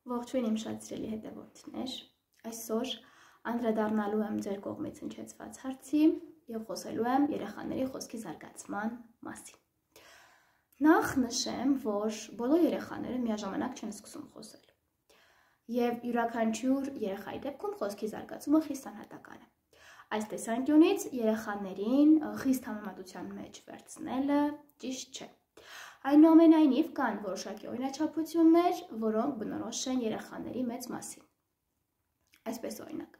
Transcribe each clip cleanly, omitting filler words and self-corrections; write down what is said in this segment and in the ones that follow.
Ողջույն իմ շատ սիրելի հետևորդներ, այսօր անդրադառնալու եմ ձեր կողմից հնչեցված հարցի և խոսելու եմ երեխաների խոսքի զարգացման մասին։ Նախ նշեմ, որ բոլոր երեխաները միաժամանակ չեն սկսում խոսել և յուրաքանչյուր երեխայի դեպքում խոսքի զարգացումը խիստ անհատական է։ Այս տեսանկյունից երեխաներին խիստ համեմատության մեջ վերցնելը ճիշտ չէ։ Այնուամենայնիվ կան որոշակի օրինաչափություններ, որոնք բնորոշ են երեխաների մեծ մասին։ Այսպես օրինակ,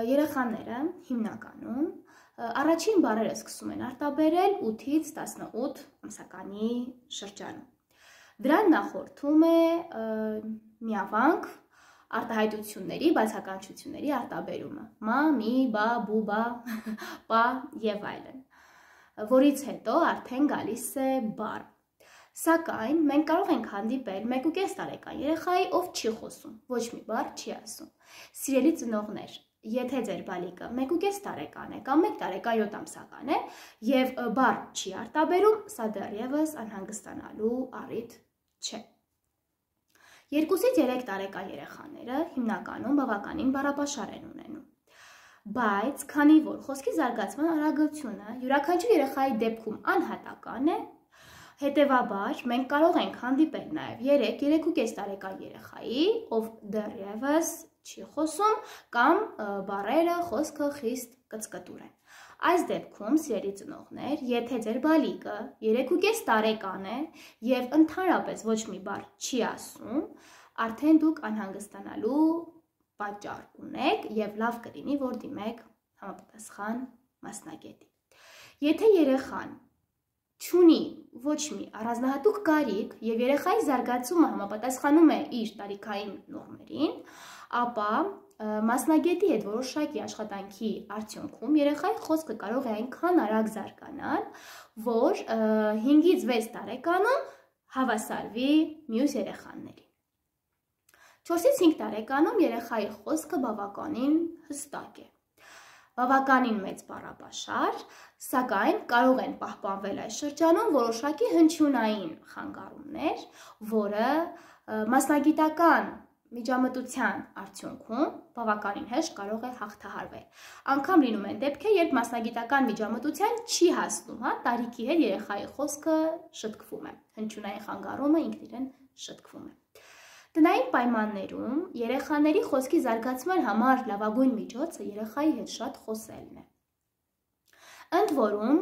երեխաները հիմնականում առաջին բառերը սկսում են արտաբերել 8-ից 18 ամսականի շրջանում։ Դրան նախորդում է միավանք արտահայտությունների, բացականչությունների արտաբերումը՝ մա, մի, բա, բու, բա, պա և այլն, որից հետո արդեն գալիս է բառ։ Սակայն մենք կարող ենք հանդիպել 1.5 տարեկան երեխայի, ով չի խոսում, ոչ մի բառ չի ասում։ Սիրելի ծնողներ, եթե ձեր բալիկը 1.5 տարեկան է կամ 1 տարեկան 7 ամսական է և բառ չի արտաբերում, սա դեռևս անհանգստանալու առիթ չէ։ 2-ից 3 տարեկան երեխաները հիմնականում բավականին բառապաշար են ունենում։ Բայց քանի որ խոսքի զարգացման արագությունը յուրաքանչյուր երեխայի դեպքում անհատական է, հետևաբար մենք կարող ենք հանդիպել նաև 3-3.5 տարեկան երեխայի, ով դեռևս չի խոսում կամ բառերը, խոսքը խիստ կծկտուր են։ Այս դեպքում, սիրելի ծնողներ, եթե ձեր բալիկը 3.5 տարեկան է և ընդհանրապես ոչ մի բառ չի ասում, արդեն դուք անհանգստանալու պատճառ ունեք և լավ կլինի, որ դիմեք համապատասխան մասնագետի։ Եթե երեխան չունի ոչ մի առանձնահատուկ կարիք և երեխայի զարգացումը համապատասխանում է իր տարիքային նորմերին, ապա մասնագետի հետ որոշակի աշխատանքի արդյունքում երեխայի խոսքը կարող է այնքան արագ զարգանալ, որ 5-ից 6 տարեկանում հավասարվի մյուս երեխաներին։ 4-ից 5 տարեկանում երեխայի խոսքը բավականին հստակ է, բավականին մեծ բառապաշար, սակայն կարող են պահպանվել այս շրջանում որոշակի հնչյունային խանգարումներ, որը մասնագիտական միջամտության արդյունքում բավականին հեշտ կարող է հաղթահարվել։ Անգամ լինում են դեպքեր, երբ մասնագիտական միջամտության չի հասնում, տարիքի հետ երեխայի խոսքը շտկվում է, հնչյունային խանգարումը ինքն իրեն շտկվում է։ Տնային պայմաններում երեխաների խոսքի զարգացման համար լավագույն միջոցը երեխայի հետ շատ խոսելն է։ Ընդ որում,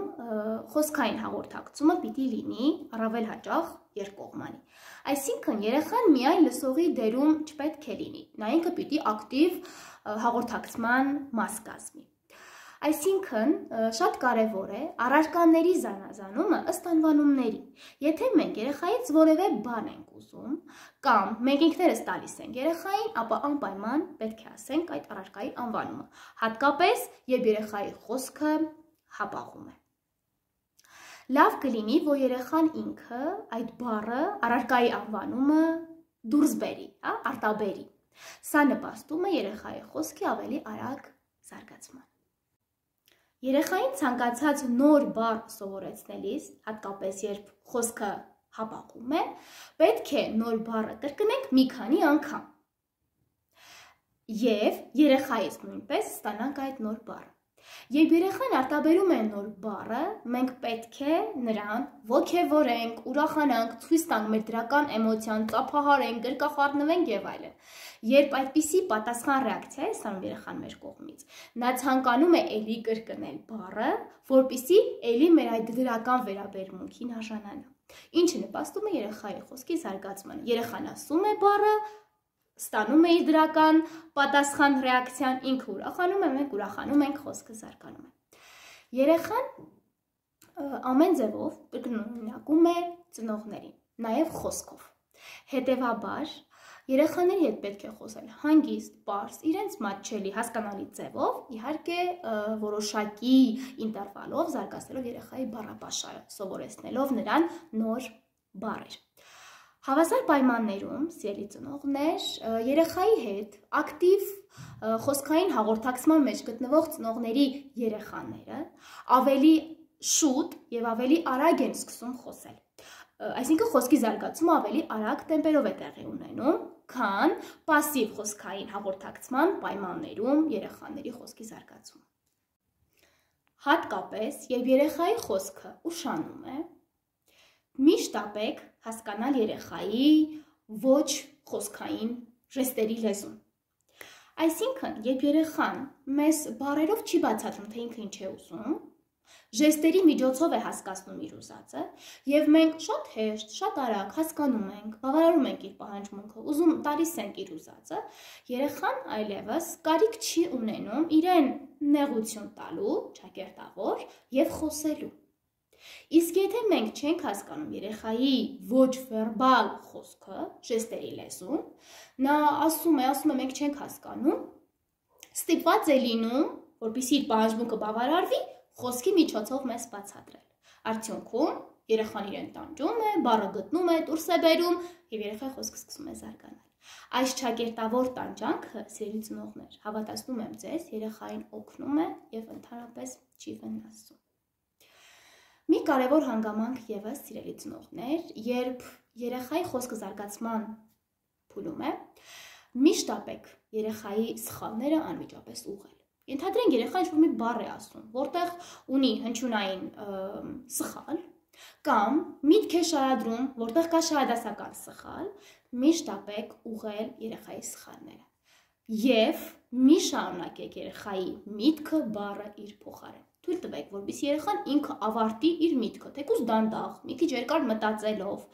խոսքային հաղորդակցումը պիտի լինի առավել հաճախ երկկողմանի։ Այսինքն երեխան միայն լսողի դերում չպետք է լինի, նա ինքը պիտի ակտիվ հաղորդակցման մաս կազմի։ Այսինքն շատ կարևոր է առարկաների զանազանումը ըստ անվանումների։ Եթե մենք երեխայից որևէ բան ենք ուզում կամ մենք ինքներս տալիս ենք երեխային, ապա անպայման պետք է ասենք այդ առարկայի անվանումը, հատկապես երբ երեխայի խոսքը հապաղում է։ Լավ կլինի, որ երեխան ինքը այդ բառը, առարկայի անվանումը դուրս բերի, արտաբերի։ Սա նպաստում է երեխայի խոսքի ավելի արագ զարգացման։ Երեխային ցանկացած նոր բառ սովորեցնելիս, հատկապես երբ խոսքը հապաղում է, պետք է նոր բառը կրկնենք մի քանի անգամ։ Եվ երեխայից նույնպես ստանանք այդ նոր բառը։ Երբ երեխան արտաբերում է նոր բառը, մենք պետք է նրան ոգևորենք, ուրախանանք, ցույց տանք մեր դրական էմոցիան, ծափահարենք, գրկախառնվենք եւ այլն։ Երբ այդպիսի պատասխան ռեակցիա է ստանում երեխան մեր կողմից, նա ցանկանում է էլի կրկնել բառը, որպեսզի էլի մեր այդ դրական վերաբերմունքին արժանանա։ Ինչը նպաստում է երեխայի խոսքի զարգացմանը։ Երեխան ասում է բառը, ստանում է իր դրական պատասխան ռեակցիան, ինքը ուրախանում է, մենք ուրախանում ենք, խոսքը զարգանում է։ Երեխան ամեն ձևով կրկնօրինակում է ծնողներին, նաև խոսքով։ Հետևաբար երեխաների հետ պետք է խոսել հանգիստ, պարզ, իրենց մատչելի, հասկանալի ձևով, իհարկե որոշակի ինտերվալով զարգացնելով երեխայի բառապաշարը, սովորեցնելով նրան նոր բառեր։ Հավասար պայմաններում, սիրելի ծնողներ, երեխայի հետ ակտիվ խոսքային հաղորդակցման մեջ գտնվող ծնողների երեխաները ավելի շուտ և ավելի արագ են սկսում խոսել։ Այսինքն խոսքի զարգացումը ավելի արագ տեմպերով է տեղի ունենում, քան պասիվ խոսքային հաղորդակցման պայմաններում երեխաների խոսքի զարգացումը։ Հատկապես, երբ երեխայի խոսքը ուշանում է, միշտ ապեք հասկանալ երեխայի ոչ խոսքային ժեստերի լեզուն։ Այսինքն, երբ երեխան մեզ բառերով չի բացատրում, թե ինքը ինչ է ուզում, ժեստերի միջոցով է հասկացնում իր ուզածը, եւ մենք շատ հեշտ, շատ արագ հասկանում ենք, բավարարում ենք իր պահանջմունքը, ուզում տալիս ենք իր ուզածը, երեխան այլևս կարիք չի ունենում իրեն նեղություն տալու, ճակերտավոր եւ խոսելու։ Իսկ եթե մենք չենք հասկանում երեխայի ոչ վերբալ խոսքը, ժեստերի լեզուն, նա ասում է, մենք չենք հասկանում, ստիպված է լինում, որպեսզի իր պահանջմունքը բավարարվի, խոսքի միջոցով մեզ բացատրել։ Արդյունքում երեխան իրեն տանջում է, բառը գտնում է, դուրս է բերում եւ երեխայի խոսքը սկսում է զարգանալ։ Այս ճակերտավոր տանջանքը, սիրելի ծնողներ, հավատացնում եմ ձեզ, երեխային օգնում է եւ ընդհանրապես չի վնասում։ Մի կարևոր հանգամանք եւս, սիրելի ծնողներ, երբ երեխայի խոսքը զարգացման փուլում է, միշտ ապեք երեխայի սխալները անմիջապես ուղղել։ Ենթադրենք երեխան ինչ-որ մի բառ է ասում, որտեղ ունի հնչյունային սխալ, կամ միտք է շարադրում, որտեղ կա շահադասական սխալ, միշտ ապեք ուղղել երեխայի սխալները։ Եվ մի շարունակեք երեխայի միտքը, բառը իր փոխարեն։ Թույլ տվեք, որպեսզի երեխան ինքը ավարտի իր միտքը, թեկուզ դանդաղ, մի քիչ երկար մտածելով,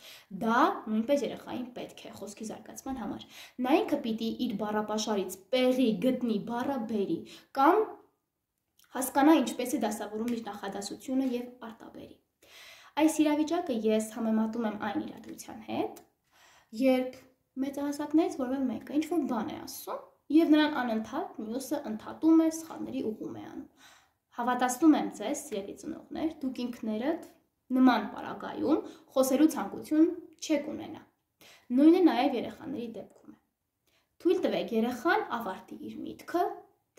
դա նույնպես երեխային պետք է խոսքի զարգացման համար։ Նա ինքը պիտի իր բառապաշարից պեղի, գտնի, բառը բերի, կամ հասկանա ինչպես է դասավորում իր նախադասությունը եւ արտաբերի։ Այս իրավիճակը ես համեմատում եմ այն իրադրության հետ, երբ մեծահասակներից որևէ մեկը ինչ-որ բան է ասում եւ նրան անընդհատ մյուսը ընդհատում է, սխալների ուղղում է անում։ Հավատացնում եմ ձեզ, սիրելի ծնողներ, դուք ինքներդ նման պարագայում խոսելու ցանկություն չեք ունենա։ Նույնը նաև երեխաների դեպքում է։ Թույլ տվեք երեխան ավարտի իր միտքը,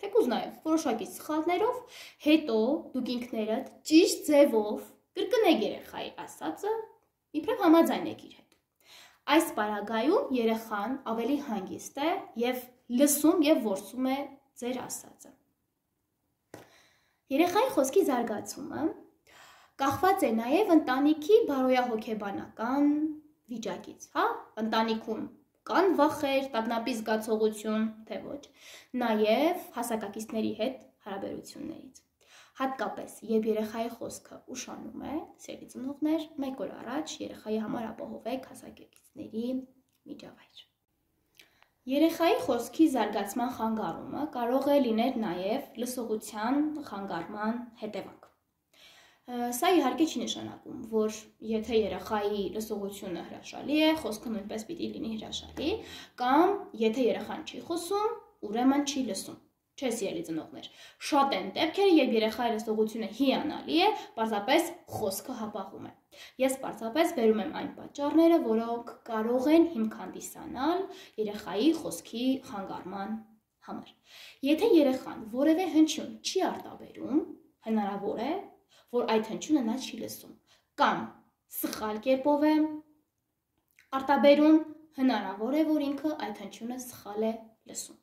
թեկուզ նաև որոշակի սխալներով, հետո դուք ինքներդ ճիշտ ձևով կրկնեք երեխայի ասածը, իբրև համաձայնեք իր հետ։ Այս պարագայում երեխան ավելի հանգիստ է եւ լսում եւ որսում է ձեր ասածը։ Երեխայի խոսքի զարգացումը կախված է նաև ընտանիքի բարոյահոգեբանական վիճակից, հա, ընտանիքում կան վախեր, տագնապի զգացողություն, թե ոչ, նաև հասակակիցների հետ հարաբերություններից։ Հատկապես, երբ երեխայի խոսքը ուշանում է, սիրելի ծնողներ, մեկ օր առաջ երեխայի համար ապահովեք հասակակիցների միջավայր։ Երեխայի խոսքի զարգացման խանգարումը կարող է լինել նաև լսողության խանգարման հետևանք։ Սա իհարկե չի նշանակում, որ եթե երեխայի լսողությունը հրաշալի է, խոսքը նույնպես պիտի լինի հրաշալի, կամ եթե երեխան չի խոսում, ուրեմն չի լսում։ Չէ, սիրելի ծնողներ, շատ են դեպքերը, երբ երեխայի լսողությունը հիանալի է, պարզապես խոսքը հապաղում է։ Ես պարզապես բերում եմ այն պատճառները, որոնք կարող են հիմք հանդիսանալ երեխայի խոսքի խանգարման համար։ Եթե երեխան որևէ հնչյուն չի արտաբերում, հնարավոր է, որ այդ հնչյունը նա չի լսում, կամ սխալ կերպով է արտաբերում, հնարավոր է, որ ինքը այդ հնչյունը սխալ է լսում։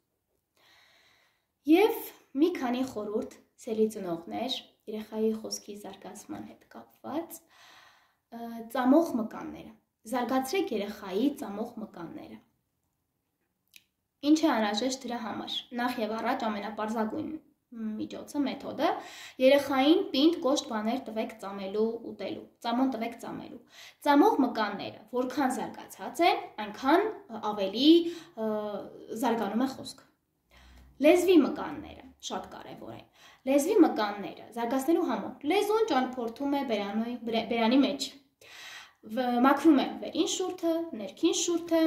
Եվ մի քանի խորհուրդ, սիրելի ծնողներ, երեխայի խոսքի զարգացման հետ կապված, ծամող մկանները։ Զարգացրեք երեխայի ծամող մկանները։ Ինչ է անհրաժեշտ դրա համար։ Նախ եւ առաջ ամենապարզագույն միջոցը, մեթոդը, երեխային պինդ կոշտ բաներ տվեք ծամելու, ուտելու, ծամոն տվեք ծամելու։ Ծամող մկանները, որքան զարգացած են, այնքան ավելի զարգանում է խոսքը։ Լեզվի մկանները շատ կարևոր են։ Լեզվի մկանները զարգացնելու համար լեզուն ճանապարհորդում է բերանի մեջ։ Մաքրում է վերին շուրթը, ներքին շուրթը։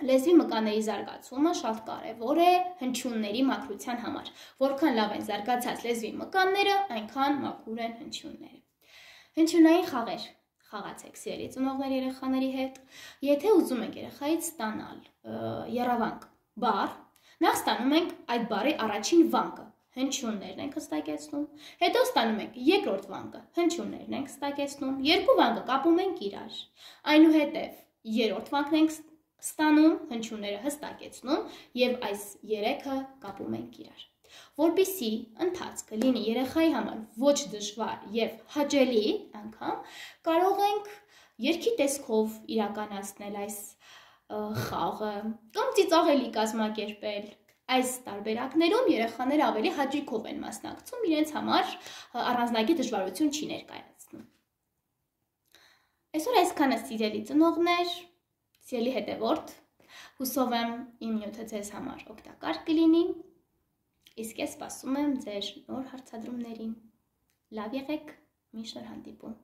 Լեզվի մկանների զարգացումը շատ կարևոր է հնչյունների մաքրության համար։ Որքան լավ են զարգացած լեզվի մկանները, այնքան մաքուր են հնչյունները։ Հնչյունային խաղեր խաղացեք, սիրելի ծնողներ, երեխաների հետ։ Եթե ուզում եք երեխայից ստանալ եռավանք բառ, նախ ստանում ենք այդ բառի առաջին վանկը, հնչյուններն ենք հստակեցնում, հետո ստանում ենք երկրորդ վանկը, հնչյուններն ենք հստակեցնում, երկու վանկը կապում ենք իրար, այնուհետև երրորդ վանկն ենք ստանում, հնչյունները հստակեցնում և այս երեքը կապում ենք իրար։ Որպեսզի ընթացքը լինի երեխայի համար ոչ դժվար և հաճելի անգամ, կարող ենք երգի տեսքով իրականացնել այս խաղը կամ ծիծաղելի կազմակերպել։ Այս տարբերակներում երեխաները ավելի հաճույքով են մասնակցում, իրենց համար առանձնագիր դժվարություն չի ներկայացնում։ Այսօր այսքանը սիրելի ծնողներ, սիրելի հետևորդ, հուսով եմ իմ նյութը ձեզ համար օգտակար կլինի, իսկ ես սպասում եմ ձեր նոր հարցադրումներին։ Լավ եղեք, մինչ նոր հանդիպում։